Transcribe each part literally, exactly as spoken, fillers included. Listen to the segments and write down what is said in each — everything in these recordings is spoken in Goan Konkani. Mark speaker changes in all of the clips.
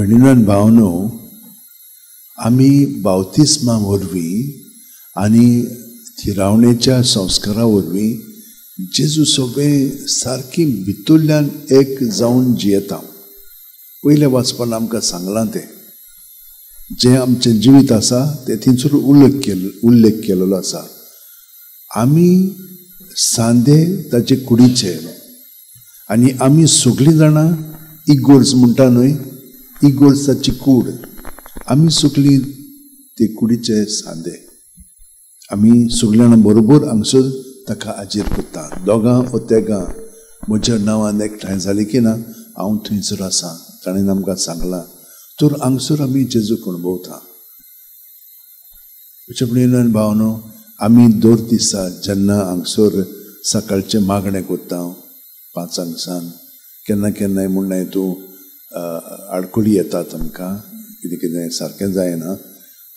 Speaker 1: भयणीन भावनो, आमी बावतिस्मा वरवीं आनी थिरावणेच्या संस्कारा वरवीं जेजू सगळें सारकी भितरल्यान एक जावन जियेता. पयल्या वाचपान आमकां सांगलां तें जें आमचें जिवीत आसा तें थंयसर उल्लेख केल्लो उल्लेख केल्लो आसा. आमी सांदे ताचे कुडीचे आनी आमी सगळीं जाणां इगोर्ज म्हणटा न्हय, इगोर्ज ताची कूड, आमी सगळीं ते कुडीचे सांदे. आमी सगळीं जाणां बरोबर हांगसर ताका हाजीर करता. दोगां ओ तेगां म्हज्या नांवान एकठांय जालीं की ना हांव थंयसर आसा, ताणें आमकां सांगलां. तर हांगसर आमी जेजूक अणभवता. म्हज्या भावनो, आमी दर दिसा जेन्ना हांगसर सकाळचें मागणें करता पांचांक सान, केन्ना केन्नाय म्हणनाय तूं आडखळी येतात आमकां, कितें कितें सारकें जायना,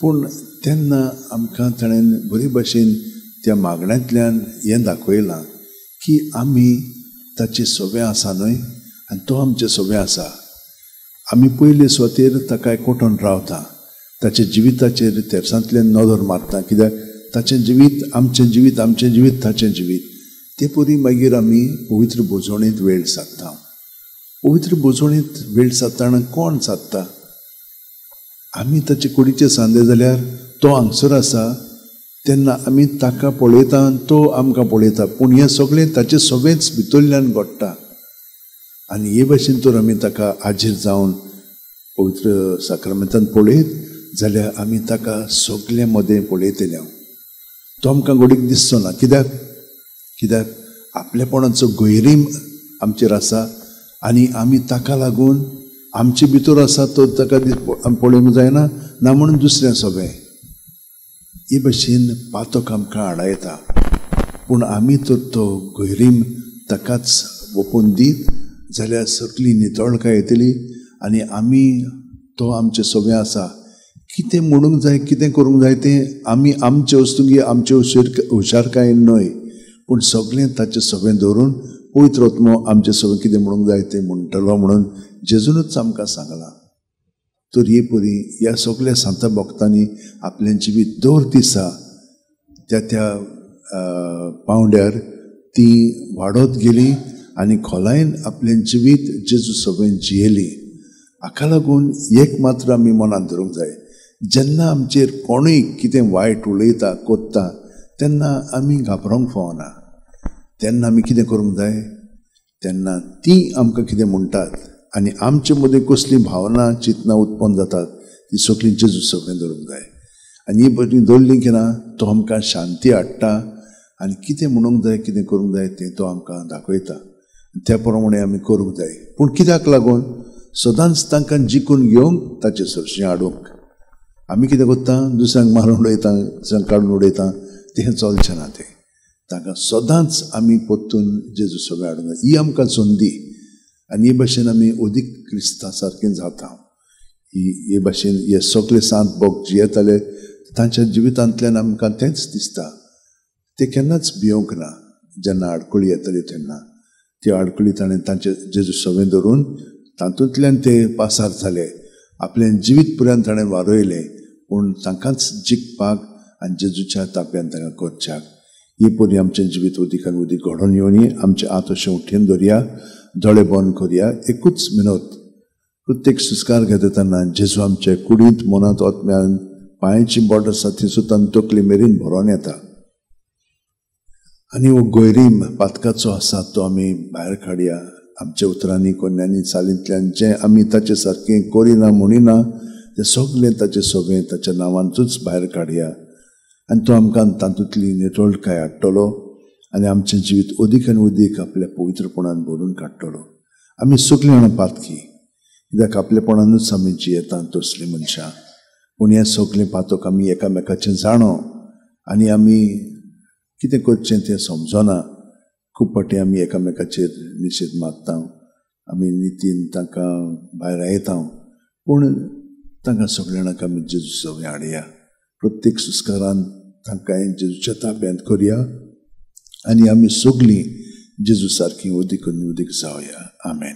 Speaker 1: पूण तेन्ना आमकां ताणें बरे भशेन त्या मागण्यांतल्यान हें दाखयलां की आमी ताचे सोबे आसा न्हय आनी तो आमचे सोबे आसा. आमी पयले सुवातेर ताका एकवटून रावता, ताच्या जिविताचेर तेरसांतल्यान नदर मारता, कित्याक ताचें जिवीत आमचें जिवीत, आमचें जिवीत ताचें जिवीत. ते परी मागीर आमी पवित्र भोजवणेंत वेळ सादता. पवित्र भोजवणेंत वेळ सादतना कोण सादता? आमी ताचे कुडीचे सांदे जाल्यार तो हांगसर आसा तेन्ना आमी ताका पळयता आनी तो आमकां पळयता, पूण हें सगळें ताचें सगळेंच भितरल्यान घडटा. आनी हे भाशेन तर आमी ताका हाजीर जावन पवित्र साक्रामेंतान पळयत जाल्यार आमी ताका सगळ्या मदें पळयतले. तो आमकां घडीक दिसचो ना, कित्याक कित्याक आपलेपणाचो गैरीम आमचेर आसा आनी आमी ताका लागून आमचे भितर आसा तो ताका पळोवंक जायना ना म्हणून दुसरें सगळें. हे भशेन पातक आमकां आडायता, पूण आमी तर तो गैरीम ताकाच वोपून दीत जाल्यार सगळी नितळकाय येतली आनी आमी तो आमचे सगळें आसा. कितें म्हणूंक जाय, कितें करूंक जाय तें आमी आमचे वस्तुंगी आमचे हुशार हुशारकायेन न्हय, पूण सगळें ताचें सगळें दवरून पवित्र आत्मो आमचें सगळें कितें म्हणूंक जाय तें म्हणटलो म्हणून जेजूनच आमकां सांगलां. तर हे परी ह्या सगळ्या सांता भक्तांनी आपलें जिवीत दर दिसा त्या त्या पांवड्यार ती वाडत गेली आनी खोलायेन आपलें जिवीत जेजू सगळें जियेली. हाका लागून एक मात्र आमी मनांत धरूंक जाय, जेन्ना आमचेर कोणूय कितें वायट उलयता कोत्ता तेन्ना आमी घाबरोंक फावना. तेन्ना आमी कितें करूंक जाय, तेन्ना ती आमकां कितें म्हणटात आनी आमचे मदीं कसलीं भावना चिंतनां उत्पन्न जातात ती सगळीं जेजू सगळें धरूंक जाय. आनी ही बरी दवरली की ना तो आमकां शांती हाडटा आनी कितें म्हणूंक जाय, कितें करूंक जाय तें तो आमकां दाखयता. त्या प्रमाणे आमी करूंक जाय. पूण कित्याक लागून सदांच तांकां जिखून घेवंक ताचे सरशीं हाडूंक आमी कितें करता, दुसऱ्यांक मारून उडयता, दुसऱ्यांक काडून उडयता, तें चलचें ना. तें तांकां सदांच आमी परतून जेजू सगळें हाडूंक जाय. ही आमकां संदी आनी हे भाशेन आमी अदीक क्रिस्ता सारकें जाता. ही हे भाशेन हे सगळे सांत भक्त जियेताले तांच्या जिवितांतल्यान आमकां तेंच दिसता. ते केन्नाच भियोंक ना. जेन्ना आडखळी येताली तेन्ना त्यो आडखळी ताणें तांचे जेजू सगळें धरून तातूंतल्यान ते पासार जाले. आपलें जिवीत पर्यंत ताणें वारयलें, पूण तांकांच जिखपाक आनी जेजूच्या ताब्यांत तांकां करच्याक. ही परी आमचें जिवीत उदीक आनी उदीक घडोवन येवनी. आमचे हात अशें उठेन धरया, दोळे बंद करया, एकूच मिनत प्रत्येक संस्कार घेता तेन्ना जेजू आमचे कुडींत, मनांत, आत्म्यान, पांयाची बोट आसा थंयसून तांकां तकली मेरेन भरोन येता आनी हो गैरीम पातकाचो आसा तो आमी भायर काडया. आमच्या उतरांनी, कोन्यांनी, चालींतल्यान जें आमी ताचे सारकें करिना म्हणिना तें सगळें ताचें सगळें ताच्या नांवांतूच भायर काडया आनी तो आमकां तातूंतली नितळकाय हाडटलो आनी आमचें जिवीत अदीक आनी अदीक आपल्या पवित्रपणान भरून काडटलो. आमी सगळीं जाणां पातकी, कित्याक आपलेपणानूच आमी जियेता तसलीं मनशां. पूण हें सगळें पातक आमी एकामेकाचें जाणो आनी आमी कितें करचें तें समजना. खूब फावटी आमी एकामेकाचेर निशेध मारता, आमी नितीन तांकां भायर येता, पूण तांकां सगळ्या जाणांक आमी जेजू सगळें हाडया. प्रत्येक संस्कारान तांकां जेजूच्या ताब्यांत करया आनी आमी सगळीं जेजू सारकीं अदीक आनी अदीक जावया. आमेन.